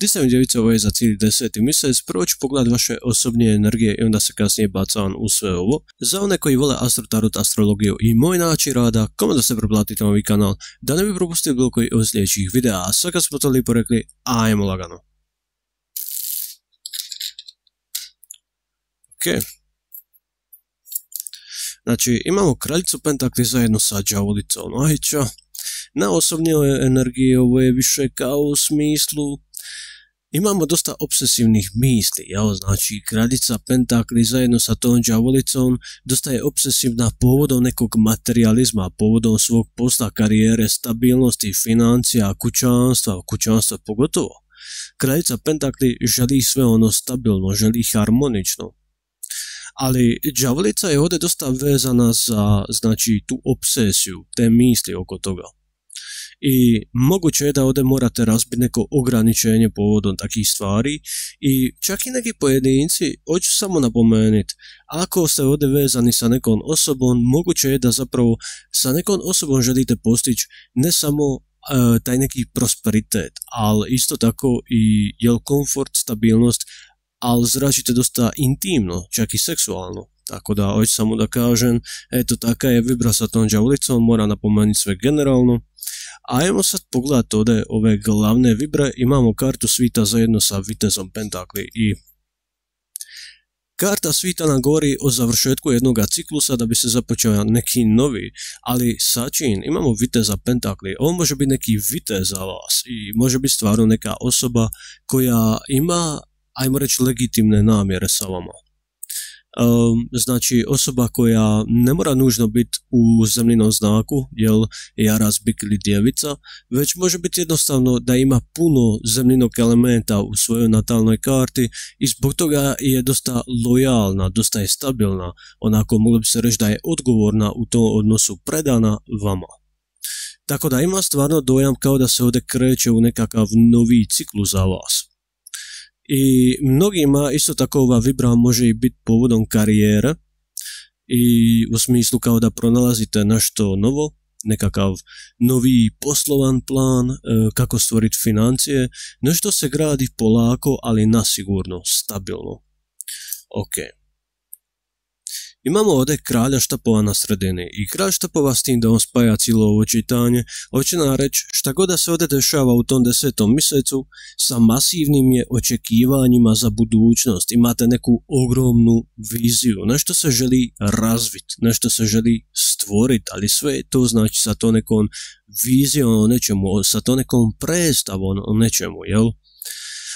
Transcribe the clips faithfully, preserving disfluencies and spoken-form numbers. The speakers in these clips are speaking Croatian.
deseti djevice, ovo je za cijeli deseti mjesec. Prvo ću pogledati vaše osobne energije i onda se kasnije bacam u sve ovo. Za one koji vole Astro Tarot, astrologiju i moj način rada, kome da se preplatite na ovaj kanal, da ne bi propustili bilo koji od sljedećih videa. A sve kad smo to lijepo rekli, ajmo lagano. Ok. Znači, imamo kraljicu pentakli zajedno sa đavolicom. Ajča. Na osobnoj energiji ovo je više kao u smislu imamo dosta obsesivnih misli, jel? Znači kraljica pentakli zajedno sa tom đavolicom dosta je obsesivna povodom nekog materijalizma, povodom svog posla, karijere, stabilnosti, financija, kućanstva, kućanstva pogotovo. Kraljica pentakli želi sve ono stabilno, želi harmonično. Ali đavolica je ovdje dosta vezana za, znači, tu obsesiju, te misli oko toga. I moguće je da ovdje morate razbiti neko ograničenje povodom takvih stvari i čak i neki pojedinci, hoću samo napomenuti, ako ste ovdje vezani sa nekom osobom, moguće je da zapravo sa nekom osobom želite postići ne samo uh, taj neki prosperitet, ali isto tako i jel komfort, stabilnost, ali zračite dosta intimno, čak i seksualno. Tako da, hoću samo da kažem, eto, taka je vibra sa tom đavolicom, mora napomenuti sve generalno. Ajmo sad pogledati ovdje ove glavne vibre, imamo kartu svita zajedno sa vitezom pentakli i karta svita nam govori o završetku jednog ciklusa da bi se započeo neki novi, ali sačin, imamo viteza pentakli, ovo može biti neki vitez za vas i može biti stvarno neka osoba koja ima, ajmo reći, legitimne namjere sa vama. Um, znači osoba koja ne mora nužno biti u zemljinom znaku, jel jaras, bik ili djevica, već može biti jednostavno da ima puno zemljinog elementa u svojoj natalnoj karti i zbog toga je dosta lojalna, dosta je stabilna, onako moglo bi se reći da je odgovorna u tom odnosu, predana vama. Tako da ima stvarno dojam kao da se ovdje kreće u nekakav novi ciklus za vas. I mnogima isto tako ova vibra može i biti povodom karijere i u smislu kao da pronalazite nešto novo, nekakav novi poslovan plan, kako stvoriti financije, nešto se gradi polako, ali nasigurno, stabilno. Ok. Imamo ovdje kralja štapova na sredini i kralj štapova s tim da on spaja cijelo ovo čitanje, hoće nam reći šta god da se ovdje dešava u tom desetom mjesecu, sa masivnim je očekivanjima za budućnost, imate neku ogromnu viziju, nešto se želi razviti, nešto se želi stvoriti, ali sve to znači sa to nekom vizijom o nečemu, sa to nekom predstavom o nečemu, jel?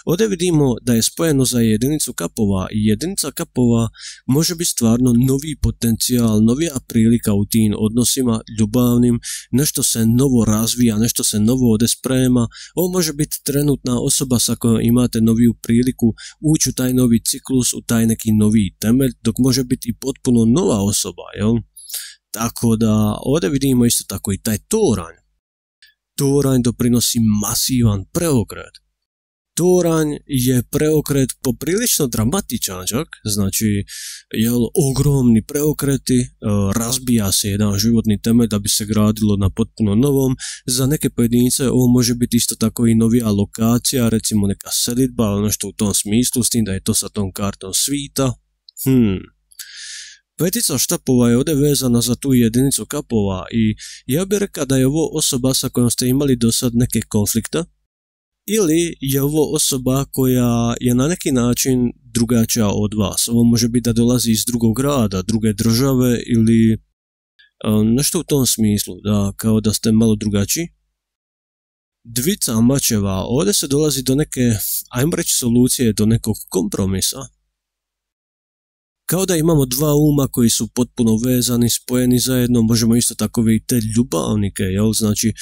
Ovdje vidimo da je spojeno za jedinicu kapova i jedinica kapova može biti stvarno novi potencijal, novija prilika u tim odnosima ljubavnim, nešto se novo razvija, nešto se novo ovdje sprema. Ovo može biti trenutna osoba sa kojom imate noviju priliku ući u taj novi ciklus, u taj neki novi temelj, dok može biti i potpuno nova osoba, jel? Tako da ovdje vidimo isto tako i taj toranj. Toranj doprinosi masivan preokret. Toranj je preokret poprilično dramatičan čak, znači jel, ogromni preokreti, razbija se jedan životni temelj da bi se gradilo na potpuno novom. Za neke pojedince ovo može biti isto tako i novija lokacija, recimo neka selidba ili nešto u tom smislu, s tim da je to sa tom kartom svita. Hmm. Petica štapova je ovdje vezana za tu jedinicu kapova i ja bih rekao da je ovo osoba sa kojom ste imali do sad neke konflikte, ili je ovo osoba koja je na neki način drugačija od vas. Ovo može biti da dolazi iz drugog grada, druge države ili um, nešto u tom smislu, da kao da ste malo drugačiji. Dvica mačeva, ovdje se dolazi do neke, ajmo reći, solucije, do nekog kompromisa. Kao da imamo dva uma koji su potpuno vezani, spojeni zajedno, možemo isto tako vidjeti te ljubavnike, jel? Znači,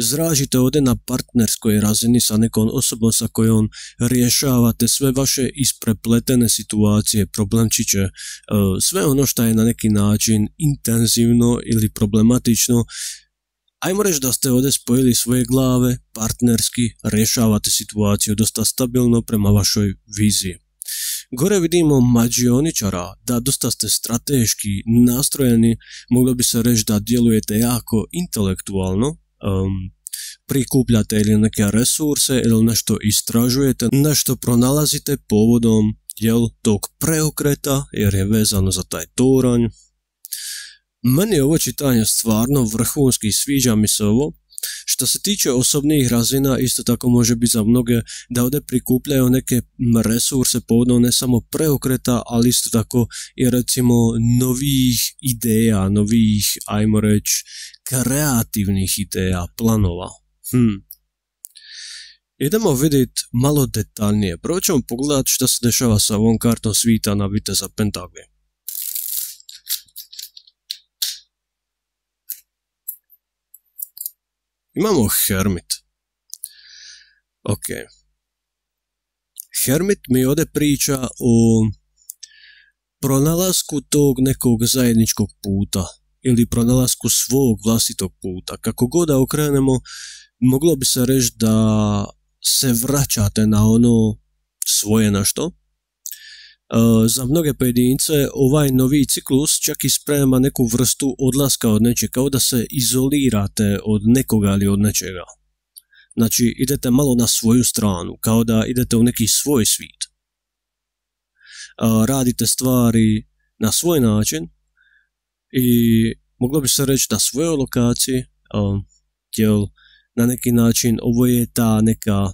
zražite ovdje na partnerskoj razini sa nekom osobom sa kojom rješavate sve vaše isprepletene situacije, problemčiće, sve ono što je na neki način intenzivno ili problematično. Ajmo reći da ste ovdje spojili svoje glave, partnerski rješavate situaciju dosta stabilno prema vašoj viziji. Gore vidimo mađioničara, da dosta ste strateški nastrojeni, moglo bi se reći da djelujete jako intelektualno. Um, prikupljate ili neke resurse ili nešto istražujete, nešto pronalazite povodom jel, tog preokreta jer je vezano za taj toranj. Meni je ovo čitanje stvarno vrhunski, sviđa mi se ovo. Što se tiče osobnih razina, isto tako može biti za mnoge da ovdje prikupljaju neke resurse povodom ne samo preokreta, ali isto tako i recimo novih ideja, novih, ajmo reći, kreativnih ideja, planova. Hmm. Idemo vidjeti malo detaljnije. Prvo ćemo pogledati što se dešava sa ovom kartom svita na viteza pentakli. Imamo Hermit. Ok. Hermit mi ovdje priča o pronalasku tog nekog zajedničkog puta ili pronalasku svog vlastitog puta. Kako god da okrenemo, moglo bi se reći da se vraćate na ono svoje nešto. Uh, za mnoge pojedince ovaj novi ciklus čak i sprema neku vrstu odlaska od nečega, kao da se izolirate od nekoga ili od nečega. Znači idete malo na svoju stranu, kao da idete u neki svoj svijet. Uh, radite stvari na svoj način i moglo bi se reći na svojoj lokaciji, uh, jel na neki način ovo je ta neka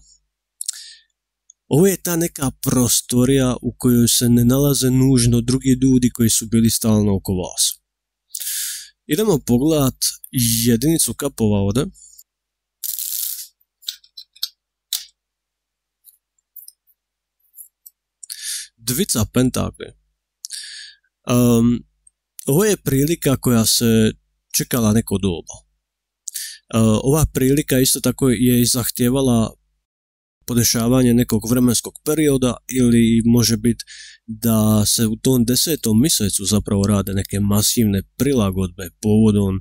Ovo je ta neka prostorija u kojoj se ne nalaze nužno drugi ljudi koji su bili stalno oko vas. Idemo pogledat jedinicu kapova ovdje. Dvica pentakli. Um, ovo je prilika koja se čekala neko doba. Uh, ova prilika isto tako je i zahtijevala podešavanje nekog vremenskog perioda ili može biti da se u tom desetom mjesecu zapravo rade neke masivne prilagodbe povodom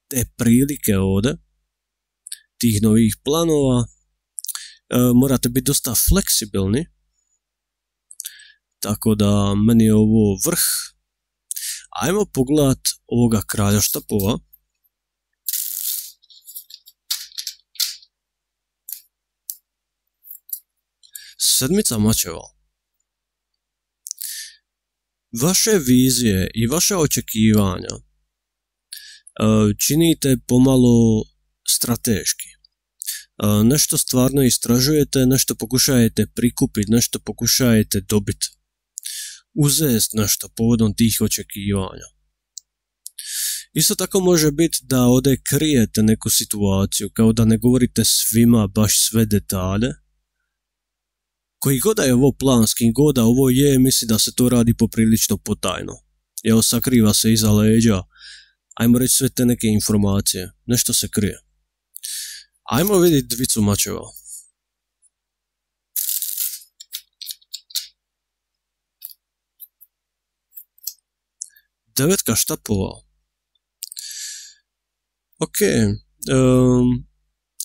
te prilike ovdje, tih novih planova. E, morate biti dosta fleksibilni, tako da meni je ovo vrh. Ajmo pogledat ovoga kralja štapova. Sedmica mačeva. Vaše vizije i vaše očekivanja činite pomalo strateški. Nešto stvarno istražujete, nešto pokušajete prikupiti, nešto pokušajete dobiti. Uzest nešto povodom tih očekivanja. Isto tako može biti da ovdje krijete neku situaciju, kao da ne govorite svima baš sve detalje. Koji god da je ovo planski, god da ovo je, misli da se to radi poprilično potajno. Evo, sakriva se iza leđa. Ajmo reći sve te neke informacije. Nešto se krije. Ajmo vidjeti dvicu mačeva. Devetka štapova. Ok. Um,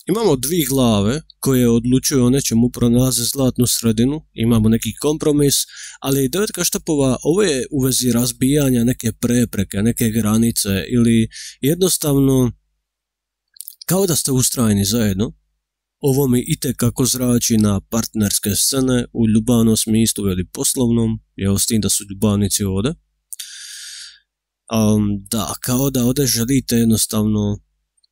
imamo dvije glave koje odlučuju o nečemu, pronalaze zlatnu sredinu, imamo neki kompromis, ali devetka štapova, ovo je u vezi razbijanja neke prepreke, neke granice ili jednostavno kao da ste ustrajni zajedno. Ovo mi itekako zrači na partnerske scene u ljubavnom smislu ili poslovnom, evo s tim da su ljubavnici ovdje. Um, da, kao da ovdje želite jednostavno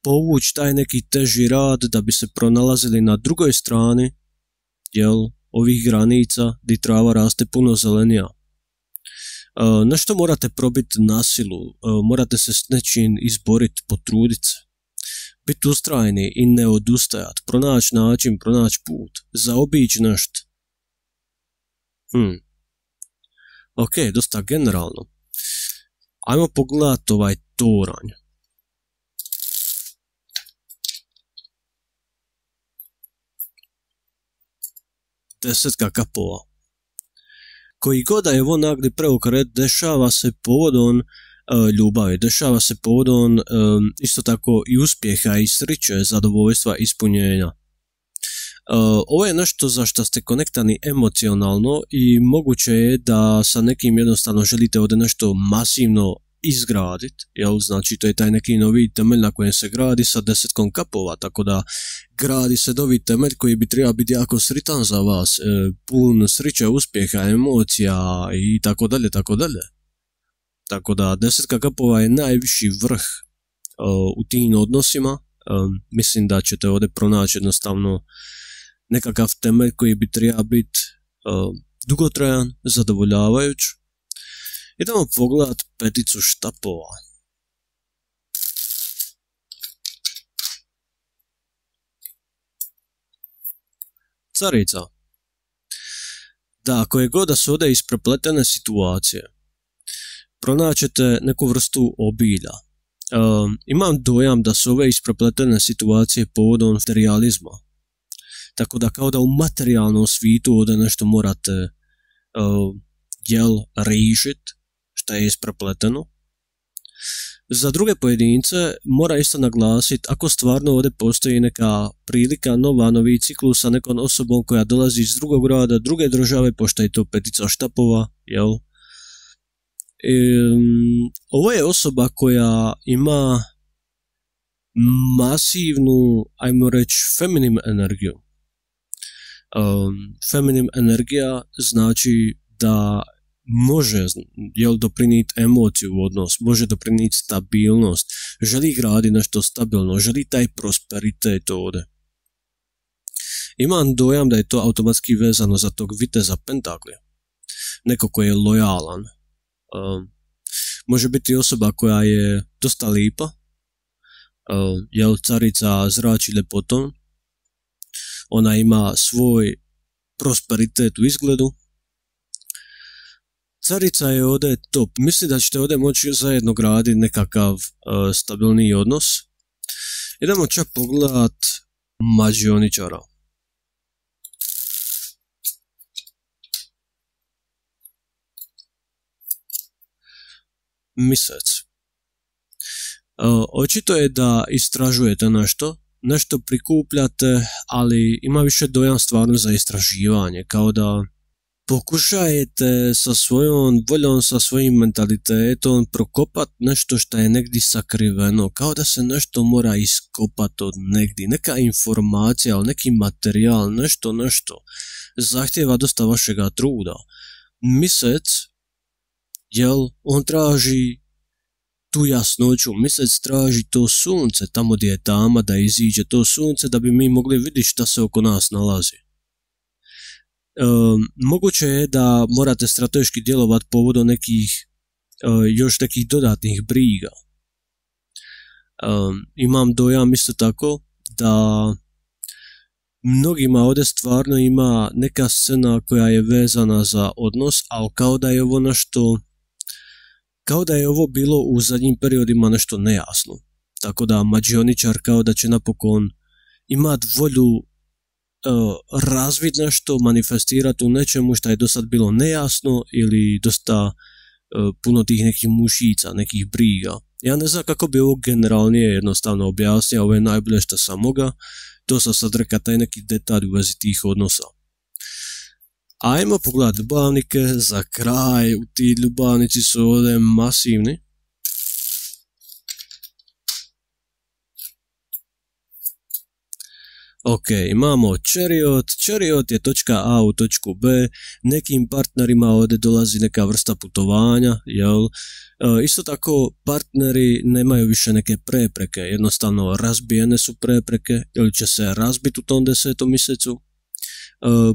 povući taj neki teži rad da bi se pronalazili na drugoj strani, jel, ovih granica gdje trava raste puno zelenija. Uh, nešto morate probiti na silu, uh, morate se s nečim izboriti, potruditi se. Biti ustrajni i ne odustajati, pronaći način, pronaći put, zaobići nešto. Hmm. Ok, dosta generalno. Ajmo pogledati ovaj toranj. Desetka kapova. Koji god da je ovo nagli preokret, dešava se povodom uh, ljubavi, dešava se povodom um, isto tako i uspjeha i sreće, zadovoljstva, ispunjenja. Uh, ovo je nešto za što ste konektani emocionalno i moguće je da sa nekim jednostavno želite ovdje nešto masivno izgraditi, jel, znači to je taj neki novi temelj na kojem se gradi sa desetkom kapova, tako da gradi se novi temelj koji bi trebao biti jako sritan za vas, e, pun sreće, uspjeha, emocija i tako dalje, tako dalje. Tako da desetka kapova je najviši vrh uh, u tim odnosima. Um, mislim da ćete ovdje pronaći jednostavno nekakav temelj koji bi trebao biti uh, dugotrajan, zadovoljavajuć. Idemo pogledat peticu štapova. Carica. Da, koje god da su ovdje isprepletene situacije, pronaćete neku vrstu obilja. Um, imam dojam da su ove isprepletene situacije povodom materializma. Tako da kao da u materijalnom svijetu ovdje nešto morate uh, jel riješit što je isprepleteno. Za druge pojedince mora isto naglasiti ako stvarno ovdje postoji neka prilika, nova, novi ciklus sa nekom osobom koja dolazi iz drugog grada, druge države, pošto je to petica štapova, jel? Um, ovo je osoba koja ima masivnu, ajmo reći, feminim energiju. Um, feminim energija znači da može, jel, doprinijeti emociju u odnos, može doprinijeti stabilnost, želi graditi nešto stabilno, želi taj prosperitet ovdje. Imam dojam da je to automatski vezano za tog viteza pentakli, neko koji je lojalan. Um, može biti osoba koja je dosta lipa, um, jel, carica zrači ljepotom, ona ima svoj prosperitet u izgledu. Carica je ovdje top. Mislim da ćete ovdje moći zajedno graditi nekakav uh, stabilniji odnos. Idemo čak pogledat mađioničara. Misec. Uh, očito je da istražujete nešto, nešto prikupljate, ali ima više dojam stvarno za istraživanje, kao da pokušajete sa svojom voljom, sa svojim mentalitetom prokopati nešto što je negdje sakriveno, kao da se nešto mora iskopati od negdje, neka informacija, neki materijal, nešto, nešto, zahtjeva dosta vašega truda. Misec, jel, on traži tu jasnoću, misec traži to sunce, tamo gdje je tama, da iziđe to sunce, da bi mi mogli vidjeti šta se oko nas nalazi. Um, moguće je da morate strateški djelovati povodom nekih uh, još nekih dodatnih briga. Um, imam dojam isto tako da mnogima ovdje stvarno ima neka scena koja je vezana za odnos, ali kao da je ovo nešto, kao da je ovo bilo u zadnjim periodima nešto nejasno. Tako da mađioničar kao da će napokon imati volju Uh, razvid nešto, manifestirati u nečemu što je do sad bilo nejasno ili dosta uh, puno tih nekih mušica, nekih briga. Ja ne znam kako bi ovo generalnije jednostavno objasnio, ovo je najbolje što sam moga, to sam sad rekao taj neki detalj u vezi tih odnosa. Ajmo pogledati ljubavnike za kraj, ti ljubavnici su ovdje masivni. Ok, imamo Chariot. Chariot je točka A u točku B. Nekim partnerima ovdje dolazi neka vrsta putovanja, jel? E, isto tako partneri nemaju više neke prepreke, jednostavno razbijene su prepreke ili će se razbiti u tom desetom mjesecu. E,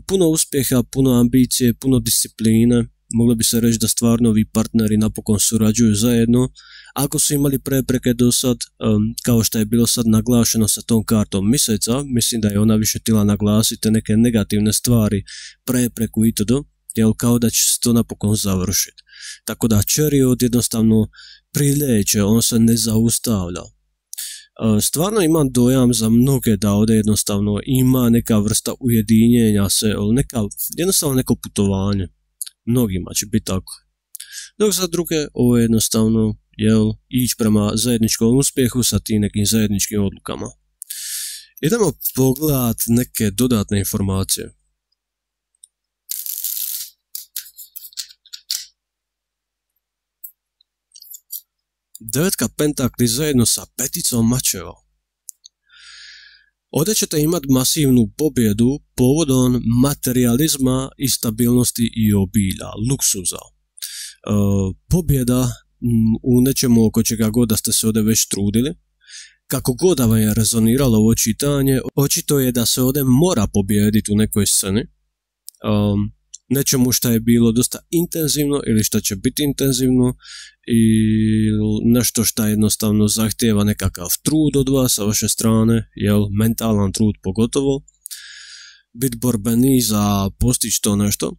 puno uspjeha, puno ambicije, puno discipline. Moglo bi se reći da stvarno ovi partneri napokon surađuju zajedno. Ako su imali prepreke do sad, um, kao što je bilo sad naglašeno sa tom kartom mjeseca, mislim da je ona više htjela naglasiti neke negativne stvari, prepreku itd., jel, kao da će se to napokon završiti. Tako da Chariot jednostavno prileće, on se ne zaustavlja. Uh, stvarno imam dojam za mnoge da ovdje jednostavno ima neka vrsta ujedinjenja se, neka, jednostavno neko putovanje. Mnogima će biti tako. Dok za druge ovo je jednostavno, jel, ići prema zajedničkom uspjehu sa tim nekim zajedničkim odlukama. Idemo pogledat neke dodatne informacije. Devetka pentakli zajedno sa peticom mačeva. Ovdje ćete imati masivnu pobjedu povodom materializma i stabilnosti i obilja, luksuza. E, pobjeda u nečemu oko čega god da ste se ovdje već trudili. Kako god da vam je rezoniralo ovo čitanje, očito je da se ovdje mora pobijediti u nekoj sceni. Um, nečemu što je bilo dosta intenzivno ili što će biti intenzivno i nešto što jednostavno zahtijeva nekakav trud od vas sa vaše strane, jel, mentalan trud pogotovo, biti borbeni za postići to nešto.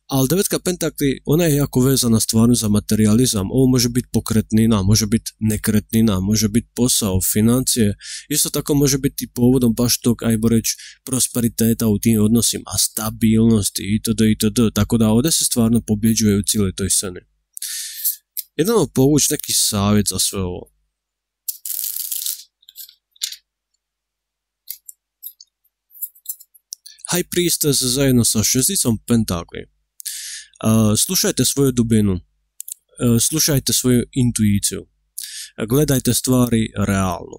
Ali devetka pentakli, ona je jako vezana stvarno za materializam. Ovo može biti pokretnina, može biti nekretnina, može biti posao, financije. Isto tako može biti povodom baš tog, ajmo reći, prosperiteta u tim odnosima, stabilnosti itd. itd. Tako da ovdje se stvarno pobjeđuje u cijeloj toj sceni. Jedno povući neki savjet za sve ovo. High Priestess zajedno sa šesticom pentakli. Uh, slušajte svoju dubinu, uh, slušajte svoju intuiciju, uh, gledajte stvari realno.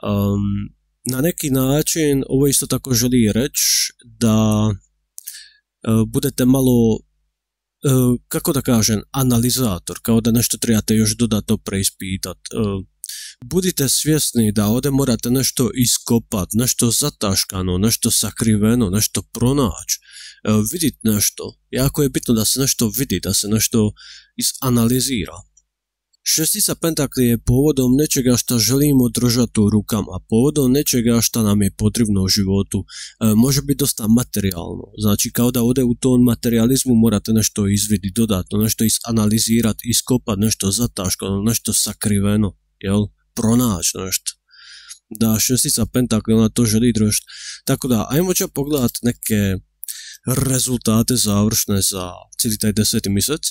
Um, na neki način ovo isto tako želi reći da uh, budete malo, uh, kako da kažem, analizator, kao da nešto trebate još dodatno preispitati. Uh, budite svjesni da ovdje morate nešto iskopati, nešto zataškano, nešto sakriveno, nešto pronaći. Uh, vidjeti nešto. Jako je bitno da se nešto vidi, da se nešto izanalizira. Šestica pentakli je povodom nečega što želimo držati u rukama, povodom nečega što nam je potrebno u životu. Uh, može biti dosta materijalno. Znači kao da ovdje u tom materializmu morate nešto izvidjeti dodatno, nešto izanalizirati, iskopati, nešto zataškano, nešto sakriveno, jel? Pronaći nešto. Da, šestica pentakli, ona to želi držati. Tako da, ajmo će pogledati neke rezultate završne za cijeli taj deseti mjesec.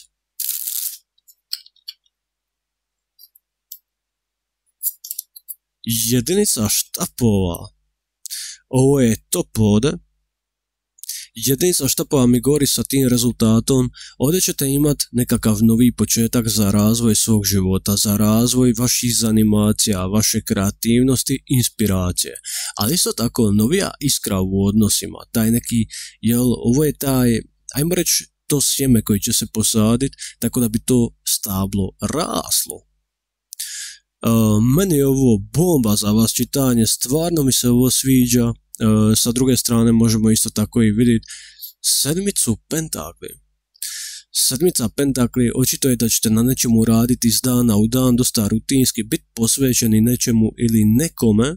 Jedinica štapova. Ovo je top ovdje. Jedinica štapova mi govori sa tim rezultatom. Ovdje ćete imati nekakav novi početak za razvoj svog života, za razvoj vaših zanimacija, vaše kreativnosti, inspiracije. Ali isto tako novija iskra u odnosima, taj neki, jel, ovo je taj, ajmo reći, to sjeme koji će se posaditi, tako da bi to stablo raslo. Uh, meni je ovo bomba za vas čitanje, stvarno mi se ovo sviđa. Uh, sa druge strane možemo isto tako i vidjeti sedmicu pentakli. Sedmica pentakli, očito je da ćete na nečemu raditi iz dana u dan, dosta rutinski, biti posvećeni nečemu ili nekome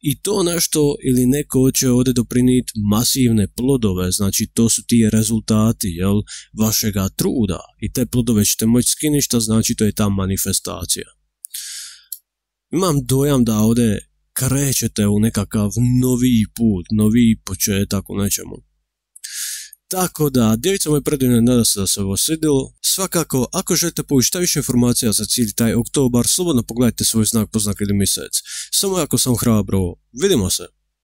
i to nešto ili neko će ovdje doprinijeti masivne plodove, znači to su ti rezultati, jel, vašega truda i te plodove ćete moći skinuti, što znači to je ta manifestacija. Imam dojam da ovdje krećete u nekakav novi put, novi početak u nečemu. Tako da, djevica moje predivne, nada se da se ovo svidjelo. Svakako, ako želite povući šta više informacija za cijeli taj oktobar, slobodno pogledajte svoj znak, poznak ili mjesec. Samo ako sam hrabro, vidimo se!